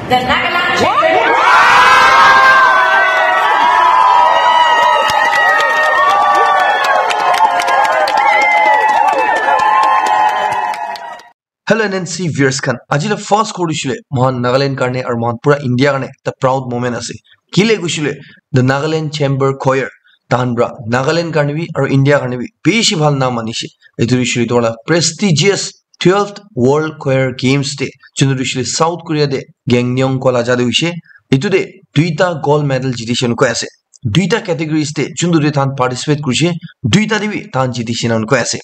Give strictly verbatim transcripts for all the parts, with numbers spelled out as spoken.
The Nagaland Chamber. Hello N N C viewers khan, aji la first khobor tu hoishe le mohan Nagaland karne aru mohan pura India karne ekta proud moment ase. Kile koishe le, the Nagaland Chamber Choir, tahan pra Nagaland karne bi aru India karne bi bishi bhal naam anishe. Etu tu hoishe le etu la prestigious twelfth World Choir Games te, juntu tu hoishe le South Korea te Gangneung koa la jaga te hoishe. Etu te duita gold medal jitishe koi ase. Duita categories te juntu te tahan participate kurishe, duita te bi tahan jitishe koi ase.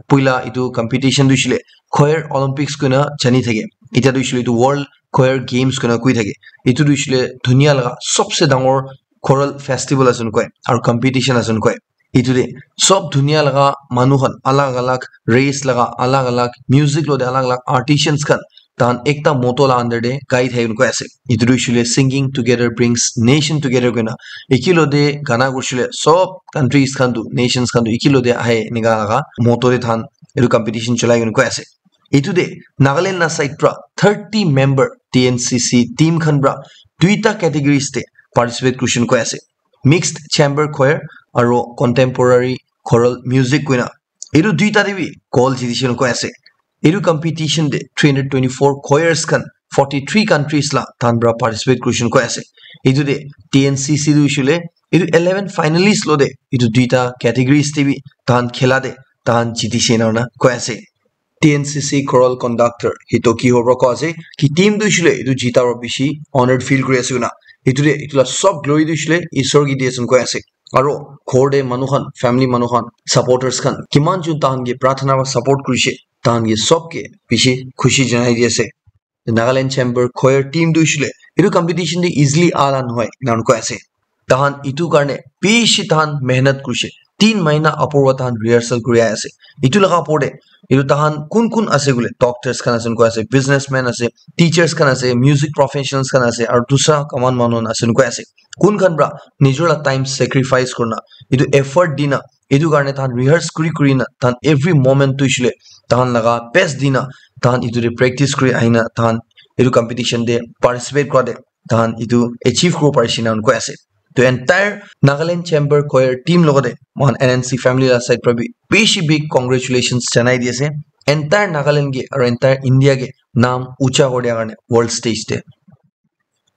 Puila etu competition tu hoishe le Choir Olympics koina jani thake. Etia tu hoishe le etu World Choir Games koina koi thake. Etu tu hoishe le dunia laga sobse dangor choral festival ase koi aru competition ase koi. Etu te sob dunia laga manu khan, alag alag race laga, alag alag music lo te alag alag artisans khan, tahan ekta motto la under te gai thai koi ase. Etu tu hoishe le Singing Together Brings Nation Together koina. Eki lo te gana koishe le sob countries khan tu, nations khan tu eki lo te ahe enika laga motto te tahan etu competition cholai koi ase. Etu te Nagaland la side pra thirty member T N C C team khan pra duita categories te participate kurishe koi ase. Mixed Chamber Choir aru Contemporary Choral Music koina. Etu duita te bi gold jitishe koi ase. Etu competition te three hundred twenty-four choirs khan forty-three countries la tahan pra participate kurishe koi ase. Etu te T N C C tu hoishe le etu eleven finalists lo te etu duita categories te bi tahan khela te tahan jitishe koi ase. T N C C choral conductor Hitoki Hobro koi ase ki team tu hoishe le etu jita para bishi honored feel kuri ase koina. Etu te etu la sob glory tu hoishe le Isor ke di ase koi ase. Aro ghor te manu khan, family manu khan, supporters khan kiman jun tahan ke prarthana para support kurishe, tahan ke sob ke bishi khushi janai di ase. Nagaland Chamber Choir team tu hoishe le etu competition te easily ala nohoi, ena koi ase. Tahan etu karne bishi tahan mehnat kurishe. Tin mahina upor wa tahan rehearsal kuri ahi ase. Etu laga upor te, etu tahan kun kun ase koile, doctors khan ase koi ase, businessman ase, teachers khan ase, music professionals khan ase, aru dusra kaman manu khan ase koi ase. Kun khan pra nijor la time sacrifice kurina, etu effort dina, etu karne tahan rehearse kuri kuri na, tahan every moment tu hoishe le tahan laga best dina, tahan etu te practice kuri ahina, tahan etu competition te participate kura te tahan etu achieve kuribo parishe na koi ase. To entire Nagaland Chamber Choir team logote mohan N N C family la side pra bi bishi big congratulations janai di ase. Entire Nagaland ke aru entire India ke naam ucha kuri dia karne world stage te.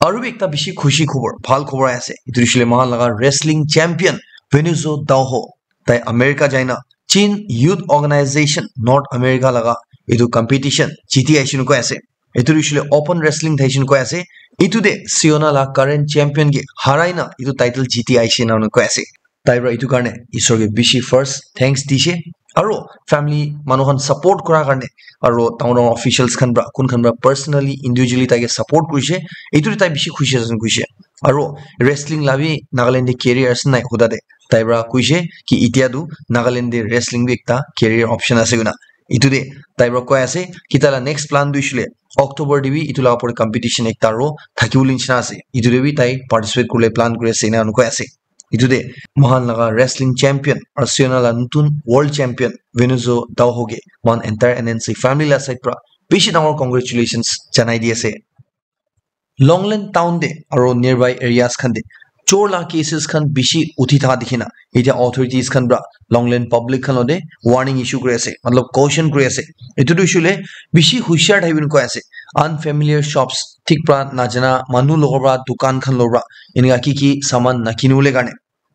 Aru bi ekta bishi khushi khobor, bhal khobor ahi ase. Etu hoishe le mohan laga wrestling champion Venuzo Daoho, tai America jaina Chin Youth Organization North America laga etu competition jiti ahishe koi ase. Etu tu hoishe le open wrestling thaishe koi ase. Etu te Siona la current champion ke harai na etu title jiti ahishe na koi ase. Tai pra etu karne Isor ke bishi first thanks dishe. Aro family manu khan support kura karne, aro dangor dangor officials khan pra, kun khan pra personally, individually tai ke support kurishe. Etu te tai bishi khushi ase kuishe. Aro wrestling la bi Nagaland te career ase nai huda te tai pra kuishe ki etia tu Nagaland te wrestling bi ekta career option ase koina. Etu te tai pra koi ase ki tai la next plan tu hoishe le October te bi etu la upor te competition ekta aro thakibo le nishina ase. Etu te bi tai participate kuribole plan kuri ase ena koi ase. Etu te mohan laga wrestling champion aru Siona la nutun world champion Venuzo Daoho ke mohan entire N N C family la side pra bishi dangor congratulations janai di ase. Longland town te aro nearby areas khan te chor la cases khan bishi uthi thaka dikhi na, etia authorities khan pra Longland public khan lote warning issue kuri ase, matlab caution kuri ase. Etu tu hoishe le bishi hushiar thakibo koi ase. Unfamiliar shops, thik pra najana manu logo pra dukan khan logo pra enika ki ki saman nakini bole karne.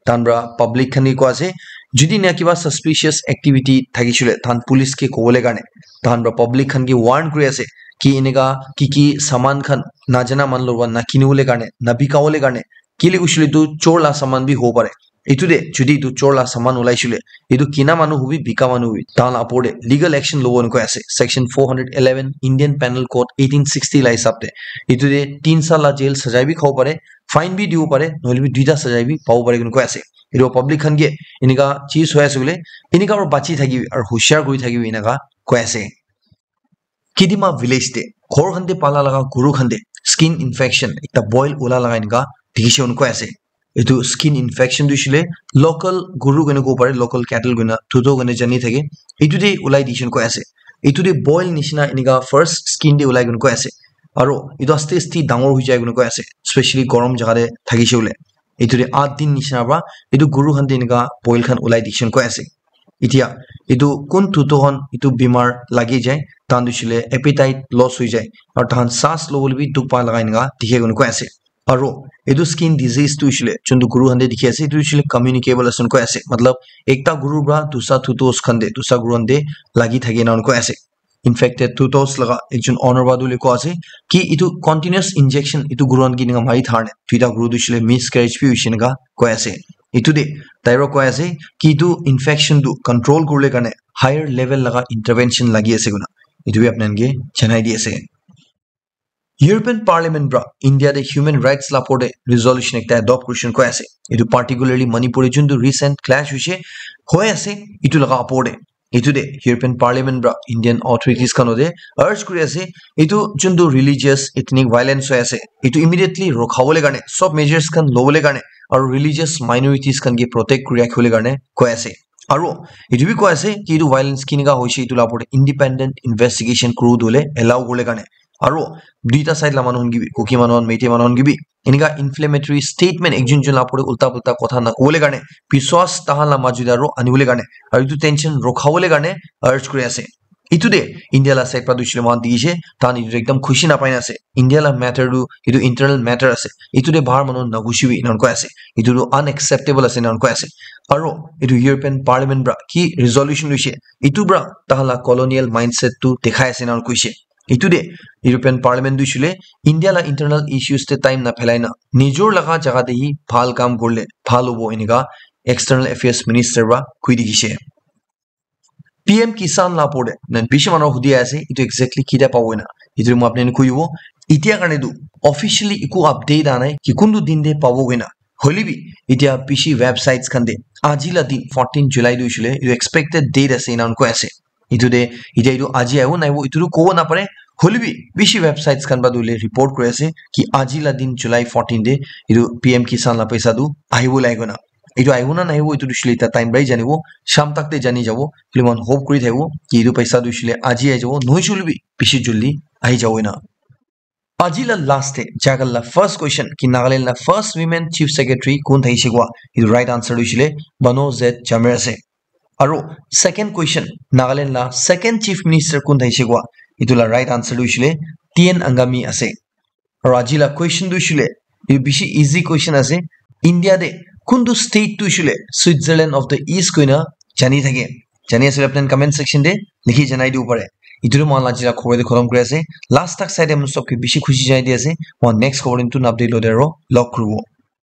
Tahan pra public khan ke koi ase, jodi ena kiba suspicious activity thakishe le, tahan police ke kobole karne, tahan pra public khan ke warn kuri ase ki eneka ki ki saman khan najana manu logot nakini bole karne, nabika bole karne, kile koishe le etu chor la saman bi hobo pare. Etu te jodi etu chor la saman ulaishe le, etu kina manu hobi, bika manu hobi, tahan la upor te legal action lobo koi ase, section four hundred eleven Indian Penal Code eighteen sixty la hisab te. Etu te tin saal la jail sajai bi khabo pare, fine bi dibo pare, nohoile bi duita sajai bi pabo pare koi ase. Etu public khan ke enika cheez hoi ase koile, enika para bachi thakibi aru hushiar kuri thakibi enika koi ase. Kidima village te ghor khan te pala laga guru khan te skin infection ekta boil ula laga enika dikhi se koi ase. Etu skin infection tu hoishe le local guru koina kobo pare, local cattle koina, tuto koina jani thake. Etu te ulai dikhi se koi ase. Etu te boil nishina enika first skin te ulai koina koi ase. Aro etu aste aste dangor hoi jai koina koi ase, especially gorom jaga te thakishe hoile. Etu te aath din nishina pra etu guru khan te enika boil khan ulai dikishe koi ase. Etia etu kun thuto khan etu bimar lagi jai, tahan tu hoishe le appetite loss hoi jai, aro tahan saas lobole bi dukh pa laga enika dikhe koina koi ase. Aro etu skin disease tu hoishe le juntu guru khan te dikhi ase, etu hoishe le communicable ase koi ase. Matlab, ekta guru pra dusra thutos khan te, dusra guru khan te lagi thake na koi ase. Infected thutos laga ekjon owner pra tu hoile koi ase ki etu continuous injection etu guru khan ke enika mari thar ne, duita guru tu hoishe le miscarriage bi hoishe enika koi ase. Etu te tai pra koi ase ki etu infection tu control kuribole karne higher level laga intervention lagi ase koina etu bi apni khan ke janai di ase. European Parliament pra India te human rights la opor te resolution ekta adopt kurishe koi ase. Etu particularly Manipur te juntu recent clash hoishe, hoi ase, etu laga opor te. Etu te European Parliament pra Indian authorities khan te urge kuri ase, etu juntu religious ethnic violence hoi ase, etu immediately rokhabole karne, sob measures khan lobole karne, aru religious minorities khan ke protect kuri rakhibole karne koi ase. Aru etu bi koi ase ki etu violence kinika hoishe etu la opor te independent investigation kuru dole allow kuribole karne. Aru duita side la manu khan ke bi, Kuki manu khan, Meitei manu khan ke bi, enika inflammatory statement ekjon ekjon la opor te ulta pulta kotha nakobole karne, biswas tahan la majot te aru anibole karne, aru etu tension rokhabole karne urge kuri ase. Etu te India la side pra tu hoishe le moikhan dikhi ase, tahan etu te ekdam khushi napai na ase. India la matter tu etu internal matter ase. Etu te bahar manu nagushi bi enika koi ase. Etu tu unacceptable ase enika koi ase. Aru etu European Parliament pra ki resolution loishe, etu pra tahan la colonial mindset tu dekhai ase enika koishe. Etu te European Parliament tu hoishe le India la internal issues te time na phelai na, nijor laga jaga te hi bhal kam kurile bhal hobo enika External Affairs Minister pra koi dikhishe. P M Kisan la opor te, na bishi manu hudi ase, etu exactly ketia pabo koina. Etu moi apni khan ke koi dibo. Etia karne tu officially eku update aha nai ki kuntu din te pabo koina. Hoile bi, etia bishi websites khan te, aji la din, fourteen July tu hoishe le, etu expected date ase, enika koi ase. Etu te, etia etu aji ahibo nahibo, etu tu kobo napare. Hoile bi, bishi websites khan pra tu hoile report kuri ase ki aji la din, July fourteen te, etu P M Kisan la paisa tu ahibo lage koina. Etu ahibo na nahibo, etu tu hoishe le etia time pra hi janibo, sham tak te jani jabo. Hoile moikhan hope kuri thakibo ki etu paisa tu hoishe le aji ahi jabo, nohoishe hoile bi bishi jaldi ahi jabo ena. Aji la last te, jagal la first question ki Nagaland la first women chief secretary kun thakishe koa? Etu right answer tu hoishe le Bano Z Jamir ase. Aru second question, Nagaland la second chief minister kun thakishe koa? Etu la right answer tu hoishe le T N Angami ase. Aru aji la question tu hoishe le, etu bishi easy question ase. India te kuntu state tu hoishe le Switzerland of the East koina jani thake? Jani ase koile apni khan comment section te likhi janai dibo pare. Etu tu moikhan la aji la khobor te khotom kuri ase. Last tak sai te apni sob ke bishi khushi janai di ase. Moikhan next khobor te notun update lote aru log kuribo.